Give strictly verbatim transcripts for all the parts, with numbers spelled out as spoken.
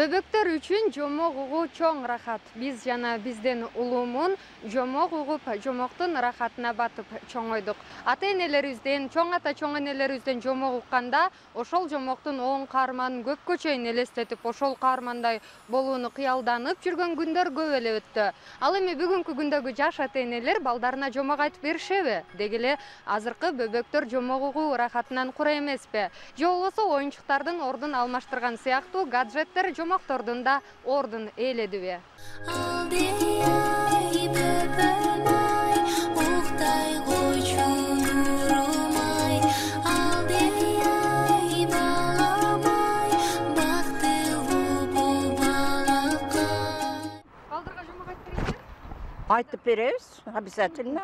Бөбөктөр үчүн жомок угуу чоң рахат. Биз жана бизден улуумун жомок угуп, жомоктун рахатына батып чоңойдук. Ата-энелерибизден, чоң ата чоң энелерибизден жомок укканда, ошол жомоктун оң каарманын көпкө чейин элестетип, ошол каармандай болууну кыялданып жүргөн күндөр көп эле өттү. Ал эми бүгүнкү күндөгү жаш ата-энелер балдарына жомок айтып беришеби? Деги эле азыркы бөбөктөр жомок угуу рахатынан кура эмеспи? Же болбосо оюнчуктардын ордун алмаштырган сыяктуу гаджеттер жомоктордун да ордун ээледиби? Балдарга жомок айтып бересиз? Айтып беребиз, обязательно.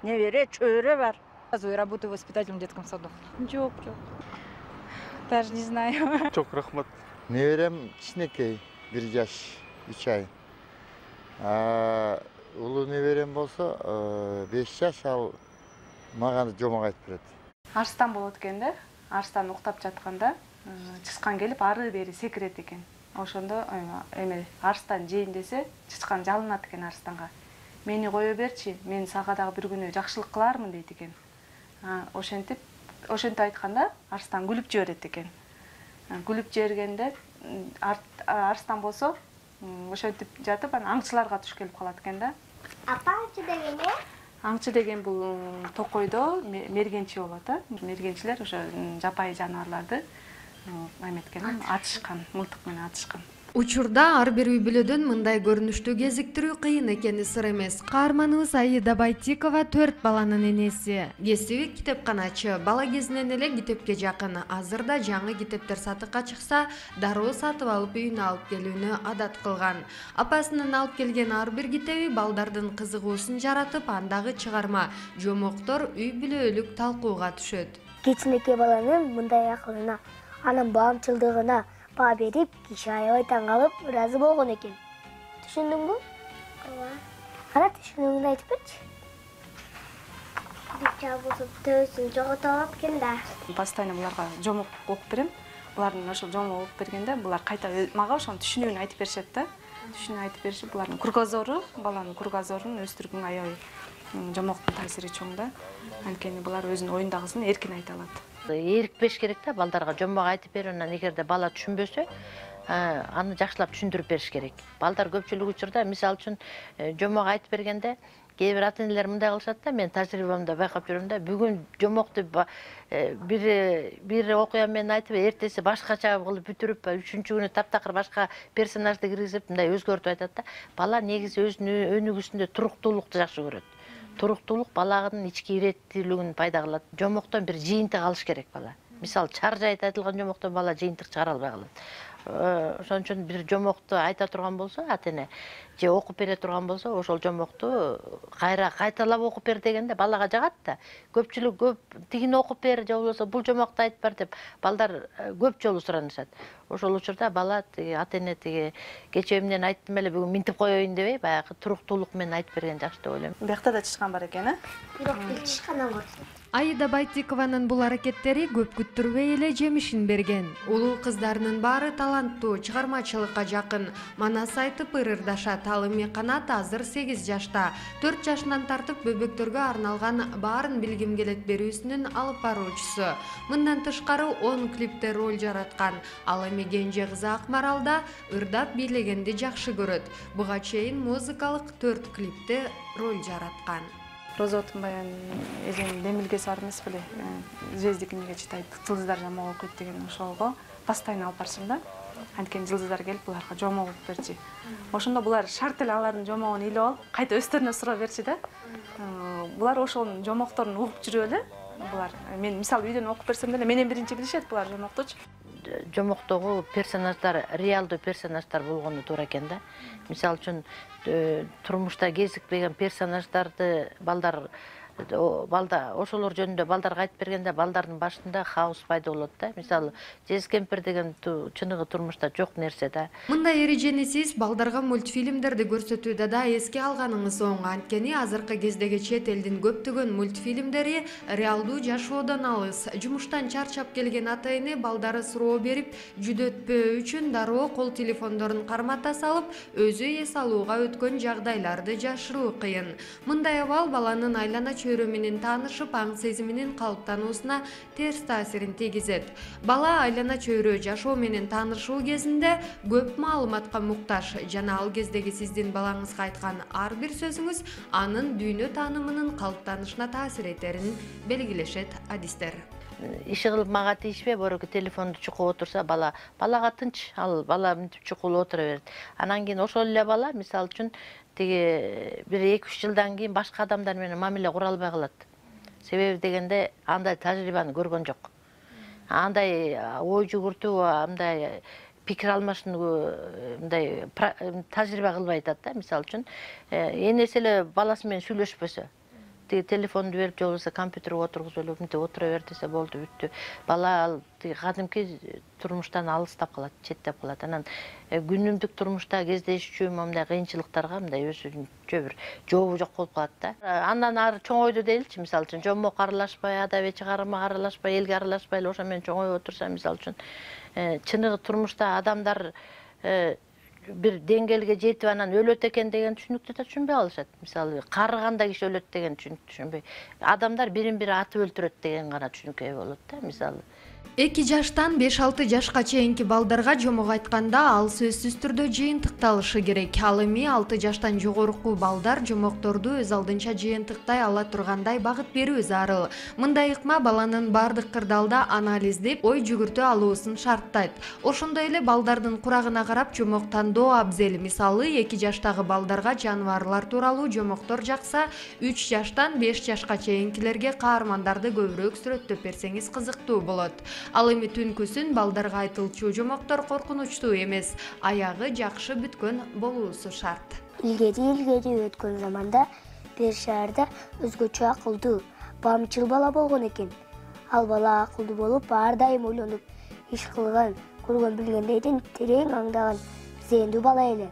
Небере, чөйрө бар. Я работаю воспитателем в детском саду. Жок, жок. Даже не знаю. Çok рахмат. Неберем кичинекей, бир жаш, үч ай. Улуу неберем болсо беш жаш, ал мага жомок айтып берет. Арстан болот экен да. Арстан уктап жатканда чычкан келип ары бери секирет экен. Ошондо эме арстан жейин десе, чычкан жалынат экен арстанга. Мени кое берчи, мен сага дагы бир күнү жакшылык кылармын дейт экен. Ошентип, ошентип айтканда арстан күлүп жиберет экен. Күлүп жибергенде арстан болсо ошентип жатып, анан аңчыларга туш келип калат экен да. Апа аңчы деген эмне? Аңчы деген бул токойдо мергенчи болот, а. Мергенчилер ошо жапайы жаныбарларды эметкен, атышкан, мылтык менен атышкан. Учурда ар бир үй бүлөдөн мындай көрүнүштү кезиктирүү кыйын экени сыр эмес. Каарманыбыз Аида Байтикова төрт баланын энеси. Кесиби китепканачы. Бала кезинен эле китепке жакын. Азырда жаңы китептер сатыкка чыкса, дароо сатып алып үйүнө алып келүүнү адат кылган. Апасынын алып келген ар бир китеби балдардын кызыгуусун жаратып, андагы чыгарма жомоктор үй бүлөлүк талкууга түшөт. Кичинекей баланын мындай акылына, анын баамчылдыгына баа берип, киши аябай таң калып, ыраазы болгон экен. Түшүндүңбү? Ооба. Кана түшүнүңдү айтып берчи. Китепчи болсо төбөсүн жогото алат экен да. Постоянно буларга жомок окуп берем. Булардын ошол жомок окуп бергенде булар кайта мага ошонун түшүнүүнү айтып беришет да. Түшүнүүнү айтып беришип, булардын кругозору, баланын кругозорун өстүргөнгө аябай жомоктун таасири чоң да. Анткени булар өзүнүн оюндагысын эркин айта алат. Эрк бериш керек да, балдарга жомок айтып берүү, анан эгерде бала түшүнбөсө, аны жакшылап түшүндүрүп бериш керек. Балдар көпчүлүк учурда, мисалы үчүн, жомок айтып бергенде, кээ бир ата-энелер мындай кылышат да, мен тажрыйбамда байкап жүрөм да, бүгүн жомокту бир бир окуя менен айтып, эртеси башкача кылып бүтүрүп, үчүнчү күнү таптакыр башка персонажды киргизип, мындай өзгөртүп айтат да. Бала негизи өзүнүн өнүгүүсүндө туруктуулукту жакшы көрөт. Туруктуулук баланын ички иреттүүлүгүн пайда кылат. Жомоктон бир жыйынтык алыш керек бала. Мисалы, чар жайыт айтылган жомоктон бала жыйынтык чыгара албай калат. Ошон үчүн бир жомокту айта турган болсо, ата-эне же окуп бере турган болсо, ошол жомокту кайра кайталап окуп бер дегенде балага жагат да. Көпчүлүк көп тигини окуп бер же болбосо бул жомокту айтып бар деп балдар көп жолу суранышат. Ошол учурда бала тиги ата-эне тиги кечээ эмнени айттым эле бүгүн минтип коеюн дебей, баягы туруктуулук менен айтып берген жакшы деп ойлойм. Биякта да чычкан бар экен, э? Бирок бир чычкандан көрдүм. Аида Байтикованын бул аракеттери көп күттүрбөй эле жемишин берген. Улуу кыздарынын баары таланттуу, чыгармачылыкка жакын. Манас айтып ырырдашат. Ал эми Канат азыр сегиз жашта. төрт жашынан тартып бөбөктөргө арналган баарын билгим келет берүүсүнүн алып баруучусу. Мындан тышкары он клипте роль жараткан. Ал эми кенже кызы Акмаралда ырдап бийлегенди жакшы көрөт. Буга чейин музыкалык төрт клипте роль жараткан. Роза Отунбаеванын эженин демилгеси бар эмес беле? Звездик эмнеге чытайт, жылдыздар жомок окуйт деген ошого постоянно алып барчумун да. Анткени жылдыздар келип буларга жомок окуп берчи. Ошондо булар шарт эле алардын жомогун илип алып, кайта өздөрүнө сурап берчи да. Булар ошонун жомокторун угуп жүрүп эле. Булар мен мисалы үйдөн окуп берсем деле менен биринчи билишет булар жомоктучу. Жомоктогу персонаждар реалдуу персонаждар болгону туура экен да. Мисалы үчүн турмушта кезикпеген персонаждарды балдар балда ошолор жөнүндө балдарга айтып бергенде балдардын башында хаос пайда болот да. Мисалы, жез кемпир деген чыныгы турмушта жок нерсе да. Мындай эрежени сиз балдарга мультфильмдерди көрсөтүүдө да эске алганыңыз оң. Анткени азыркы кездеги чет элдин көптөгөн мультфильмдери реалдуу жашоодон алыс. Жумуштан чарчап келген ата-эне балдары суроо берип, жүдөтпөө үчүн дароо кол телефондорун кармата салып, өзү эс алууга өткөн жагдайларды жашыруу кыйын. Мындай абал баланын айлана чөйрө менен таанышып, аң сезиминин калыптануусуна терс таасирин тийгизет. Бала айлана чөйрө жашоо менен таанышуу кезинде көп маалыматка муктаж жана ал кездеги сиздин балаңызга айткан ар бир сөзүңүз анын дүйнө таанымынын калыптанышына таасир этерин белгилешет адистер. Иши кылып мага тийишпей, бороки телефонду чукуп отурса, бала балага тынч, ал бала мынтип чукулуп отура берет. Анан кийин ошол эле бала, мисалы үчүн, тиги бир эки үч жылдан кийин башка адамдар менен мамиле кура албай калат. Себеби дегенде андай тажрыйбаны көргөн жок. Андай ой жүгүртүү, андай пикир алмашууну мындай тажрыйба кылбай атат да. Мисалы үчүн, энеси эле баласы менен сүйлөшпөсө, тиги телефонду берип, же болбосо компьютерге отургузуп эле мынтип отура бер десе болду, бүттү. Бала ал тиги кадимки турмуштан алыстап калат, четтеп калат. Анан күнүмдүк турмушта кездешүүчү мындай кыйынчылыктарга мындай өзүнчө бир жообу жок болуп калат да. Андан ары чоңойду дейилчи, мисалы үчүн жомок аралашпай, адабий чыгарымга аралашпай, элге аралашпай эле ошо менен чоңоюп отурса, мисалы үчүн, чыныгы турмушта адамдар бир деңгээлге жетип анан өлөт экен деген түшүнүктү да түшүнбөй калышат. Мисалы, карыганда киши өлөт деген түшүнүктү түшүнбөй. Адамдар бирин бири атып өлтүрөт деген гана түшүнүккө ээ болот да, мисалы. эки жаштан беш алты жашка чейинки балдарга жомок айтканда ал сөзсүз түрдө жыйынтыкталышы керек. Ал эми алты жаштан жогорку балдар жомокторду өз алдынча жыйынтыктай ала тургандай багыт берүү зарыл. Мындай ыкма баланын бардык кырдаалда анализдеп, ой жүгүртө алуусун шарттайт. Ошондой эле балдардын курагына карап жомок тандоо абзел. Мисалы, эки жаштагы балдарга жаныбарлар тууралуу жомоктор жакса, үч жаштан беш жашка чейинкилерге каармандарды көбүрөөк сүрөттөп берсеңиз кызыктуу болот. Ал эми түнкүсүн балдарга айтылчу жомоктор коркунучтуу эмес, аягы жакшы бүткөн болуусу шарт. Илгери илгери өткөн заманда бир шаарда өзгөчө акылдуу, бамчыл бала болгон экен. Ал бала акылдуу болуп, ар дайым ойлонуп, иш кылган, көргөн билгендерин терең аңдаган зээндүү бала эле.